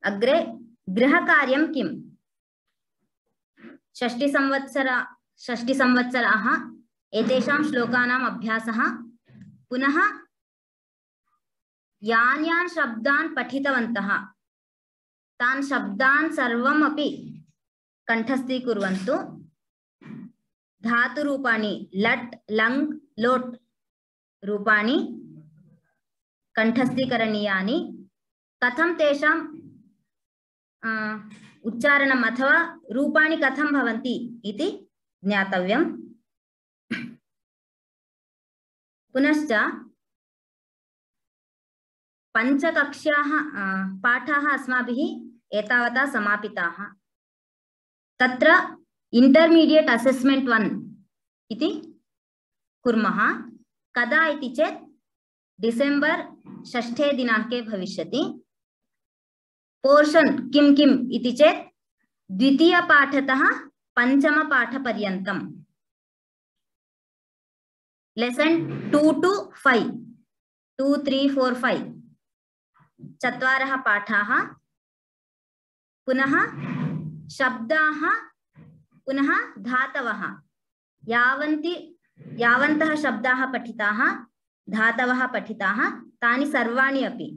अग्रे गृहकार्यं किम्? षष्टिसंवत्सराः एतेषां श्लोकानाम् अभ्यासः। पुनः यान् यान् शब्दान् पठितवन्तः तान् शब्दान् सर्वमपि कंठस्थीकुर्वन्तु। धातुरूपाणि लट् लङ् लोट् रूपाणि कंठस्थीकरणीयानि। कथं तेषां उच्चारणम् अथवा रूपाणि कथं भवन्ति इति ज्ञातव्यम्। पुनश्च पञ्चकक्ष्याः पाठाः अस्माभिः एतावता समापिताः। तत्र इंटरमीडिएट असेसमेंट 1 इति कुर्मः। कदा इति चेत् डिसेंबर 6 दिनाङ्के भविष्यति। पोर्शन किं किम् इति चेत् द्वितीयपाठतः पञ्चमपाठपर्यन्तं लेसन 2 to 5 2 3 4 5 चत्वारः पाठाः। पुनः शब्दाः पुनः धातवः यावन्तः शब्दाः पठिताः धातवः पठिताः तानि सर्वाणि अपि।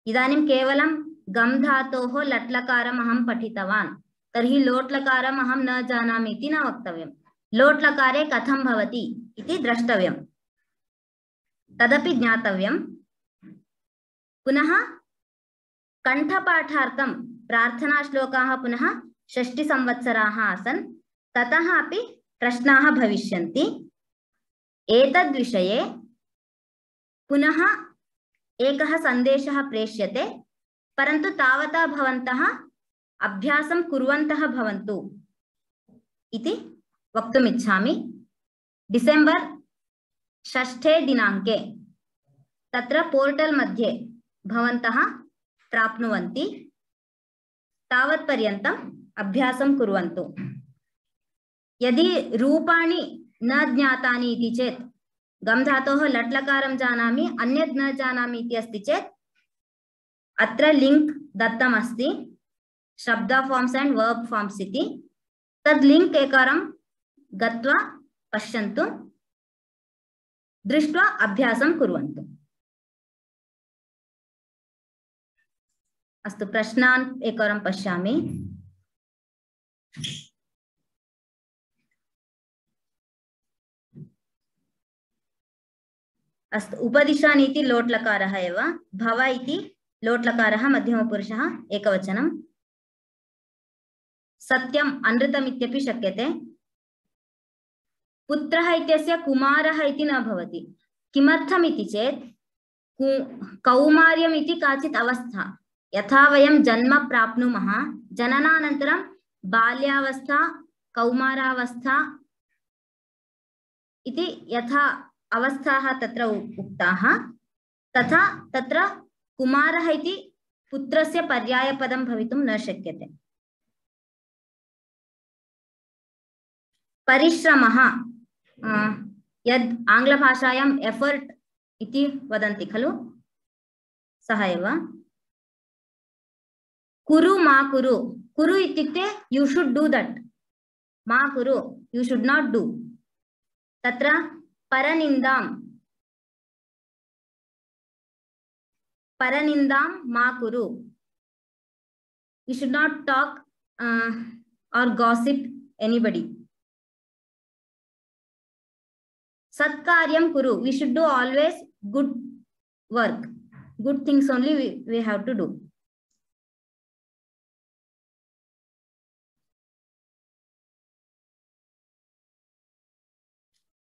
इदानीं केवलं गम धातोः लट् लकारम् अहं पठितवान्, तर्हि लोट् लकारम् अहं न जानामि इति न वक्तव्यम्। लोट् लकारे कथं भवति इति द्रष्टव्यम्, तदपि ज्ञातव्यम्। पुनः कंठपाठार्थं प्रार्थनाश्लोकाः पुनः षष्टिसंवत्सराः आसन्, ततः अपि प्रश्नाः भविष्यन्ति। एतद्विषये पुनः एकः सन्देशः प्रेष्यते, परन्तु तावता भवन्तः अभ्यासं कुर्वन्तः भवन्तु इति वक्तुम् इच्छामि। डिसेंबर 6 दिनाङ्के तत्र पोर्टल मध्ये भवन्तः प्राप्नुवन्ति। तावत् पर्यन्तम् अभ्यासं कुर्वन्तु। यदि रूपाणि न ज्ञातानि इति चेत् गम धातोः लट् लकारं जानामि अन्यत् न जानामि इति अस्ति चेत् अत्र लिंक दत्तम् अस्ति, शब्द फॉर्म्स एंड वर्ब फॉर्म्स इति। तद् लिंक एकवारं गत्वा पश्यन्तु, दृष्ट्वा अभ्यासं कुर्वन्तु। अस्तु, प्रश्नान् एकवारं पश्यामि। अस्तु, उपदिशानि इति लोट् लकारः एव, भव इति लोट् लकारः मध्यमपुरुषः एकवचनं। सत्यम् अनृतम् इत्यपि शक्यते। पुत्रः इत्यस्य कुमारः इति न भवति। किमर्थम् इति चेत् कौमार्यम् इति काचित् अवस्था। यथा वयं जन्म प्राप्नुमः, जननानन्तरं बाल्यावस्था कौमारावस्था इति यथा अवस्थाः तत्र उक्ताः, तथा तत्र कुमारः इति पुत्रस्य पर्यायपदं भवितुं न शक्यते। परिश्रमः यद् आङ्ग्लभाषायां एफर्ट् इति वदन्ति खलु, सः एव। कुरु मा कुरु, कुरु इत्युक्ते यू शुड डू दट्, मा कुरु यू शुड नॉट डू। तत्र परनिन्दां मा कुरु, you should not talk or gossip anybody. Satkaryam kuru, we should do always good work, good things only we have to do.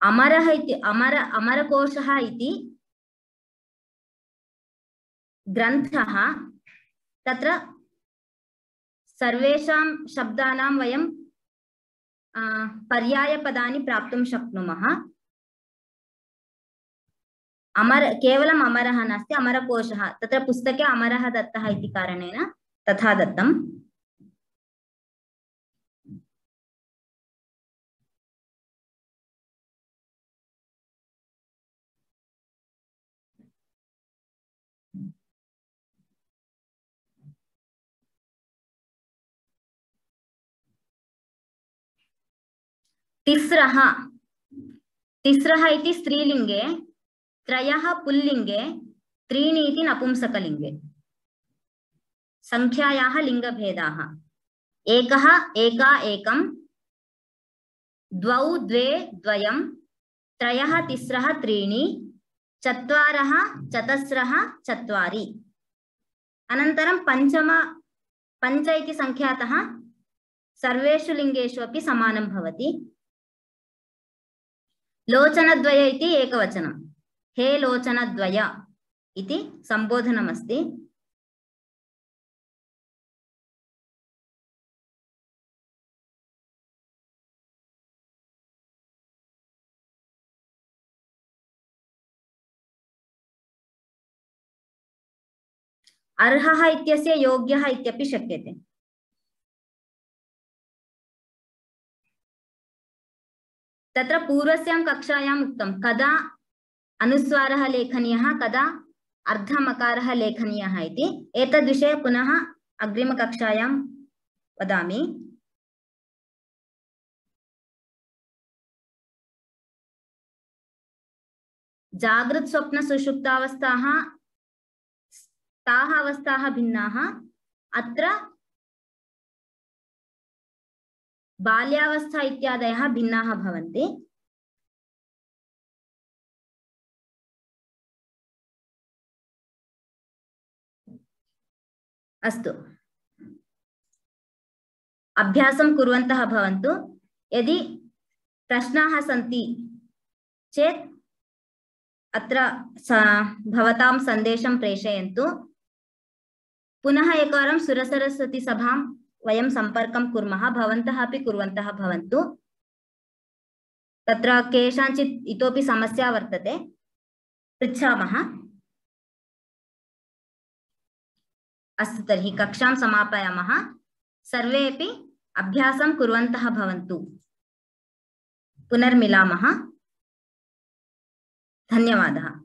अमरः इति अमरकोशः इति ग्रन्थः, तत्र सर्वेषां शब्दानां वयं पर्यायपदानि प्राप्तुं शक्नुमः। केवलम् अमरः नास्ति, अमरकोशः, तत्र पुस्तके अमरः दत्तः इति कारणेन तथा दत्तम्। तिस्रः तिस्रः इति स्त्रीलिंगे, त्रयः पुल्लिंगे, त्रीणि इति नपुंसकलिंगे। संख्यायाः लिंगभेदाः। एकः एका एकं, द्वौ द्वे द्वयं, त्रयः तिस्रः त्रीणि, चत्वारः चतस्रः चत्वारि। अनन्तरं पञ्च इति संख्यातः सर्वेषु लिंगेषु अपि समानं भवति। लोचनद्वय इति एकवचनं। हे लोचनद्वय इति सम्बोधनमस्ति। अर्हः इत्यस्य योग्यः इत्यपि शक्यते। तत्र पूर्वस्यां कक्षायाम् उक्तं कदा अनुस्वारः लेखनीयः, कदा अर्धमकारः लेखनीयः इति। एतद्विषये पुनः अग्रिमकक्षायां वदामि। जागृत स्वप्न सुषुप्तावस्थाः ताः अवस्थाः भिन्नाः। अत्र बाल्यावस्था इत्यादयः भिन्नाः भवन्ति। अस्तु, अभ्यासं कुर्वन्तः भवन्तु। यदि प्रश्नाः सन्ति चेत् अत्र भवतां सन्देशं प्रेषयन्तु। पुनः एकवारं सुरसरस्वती सभां वयं सम्पर्कं कुर्मः। भवन्तः अपि कुर्वन्तः भवन्तु। तत्र केषाञ्चित् इतोपि समस्या वर्तते, पृच्छामः। अस्तु, तर्हि कक्षां समापयामः। सर्वेपि अभ्यासं कुर्वन्तः भवन्तु। पुनर्मिलामः। धन्यवादः।